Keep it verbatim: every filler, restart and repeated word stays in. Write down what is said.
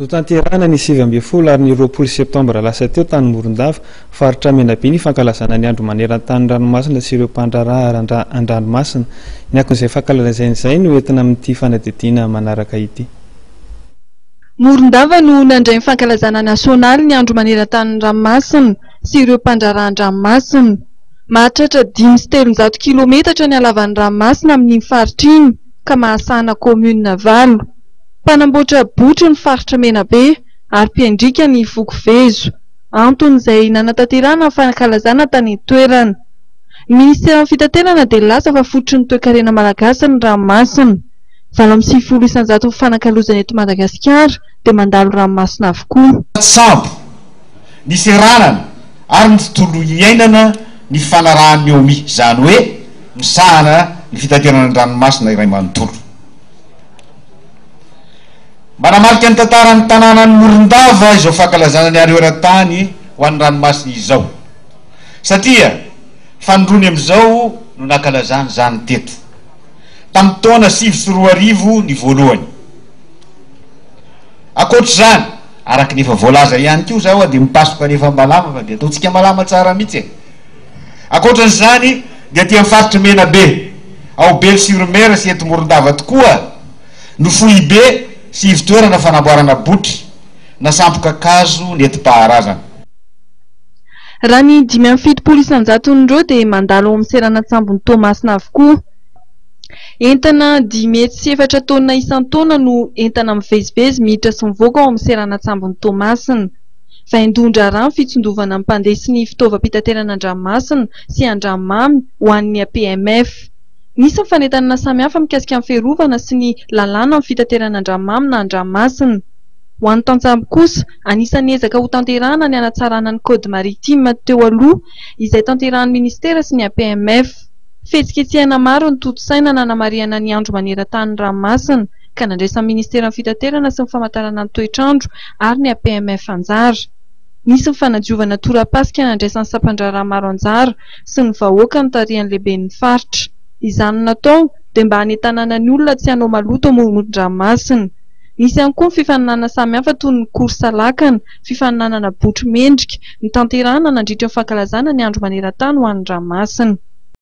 Notanterahina ny sivy ambin'ny folo ary ny roapolo septambra lasa teo tany Morondava, faritra Menabe, ny fankalazana ny andro maneran-tany ranomasina sy ireo mpandraharaha an-dranomasina. Ny akon'izay fankalazana izay no entina amin'ity fanadihadiana manaraka ity. Morondava no nandray ny fankalazana nasionaly ny andro maneran-tany ranomasina sy ireo mpandraharaha an-dranomasina. Mahatratra dimy sy telonjato kilometatra ny halavan'ny ranomasina amin'iny faritra iny ka mahasahana kaominina valo. Mpanamboatra botry ny faritra Menabe ary mpiandriaka ny foko Vezo. Antony izay nanatanterahana ny fankalazana tany an-toerana. Ny ministeran'ny fitaterana dia nilaza fa fototry ny toekarena malagasy ny ranomasina. Valo amby sivifolo isanjato ny fanakalozana eto Madagasikara dia mandalo ranomasina avokoa. Sambo, ny seranana ary ny tontolo iainana ny fanarahan'ny O M I, izany hoe misahana ny fitaterana an-dranomasina iray manontolo. Manamarika ny tantaran'ny tanànan'i Morondava izao fankalazana ny andro eran-tany ho an'ny ranomasina izao, satria fanindroany amin'izao no nankalazana izany teto, tamin'ny taona sivy sy roa arivo ny voalohany. Ankoatr'izany, araka ny efa voalaza ihany koa zao a, dia mipasoka nefa malama fa dia ataontsika malama tsara mihitsy e. Ankoatran'izany dia aty amin'ny faritra Menabe, ao Belo sur Mer sy eto Morondava tokoa no foibe sy ivontoerana fanamboarana botry na sambo-kakazo nentim-paharazana. Raha ny dimy amby fitopolo isanjaton'ireo dia mandalo ao amin'ny seranan-tsambon'i Toamasina avokoa. Entana dimy hetsy sy efatra taonina isan-taona no entana mivezivezy miditra sy mivoaka ao amin'ny seranan-tsambon'i Toamasina. Vaindohan-draharaha ny fitsindovana ny mpandeha sy ny fitaovam-pitaterana an-dranomasina sy an-dranomamy ho an'ny A P M F. Nisy ny fanentanana samihafa mikasika ny fiarovana sy ny lalàna amin'ny fitaterana an-dranomamy na an-dranomasina. Ho an'ny tantsambo kosa, anisan'ny ezaka ho tanterahana ny hanatsarana ny code maritime teo aloha izay tanterahan'ny ministera sy ny A P M F. Fihetsiketsehana maro no tontosaina nanamarihana ny andro maneran-tany ranomasina ka nandraisan'ny ministeran'ny fitaterana sy ny famantarana ny toetrandro ary ny A P M F anjara. Nisy ny fanadiovana tora-pasika nandraisan'ny sampan-draharaha maro anjara sy ny vahoaka notarihan'ny lehiben'ny faritra. Izany no natao dia mba hanentanana ny olona tsy hanao maloto amoron-dranomasina. Nisy ihany koa ny fifaninanana samihafa toy ny course lakana, fifaninanana botry mendrika, notanterahina nandritra ny fankalazana ny andro maneran-tany ho an'ny ranomasina.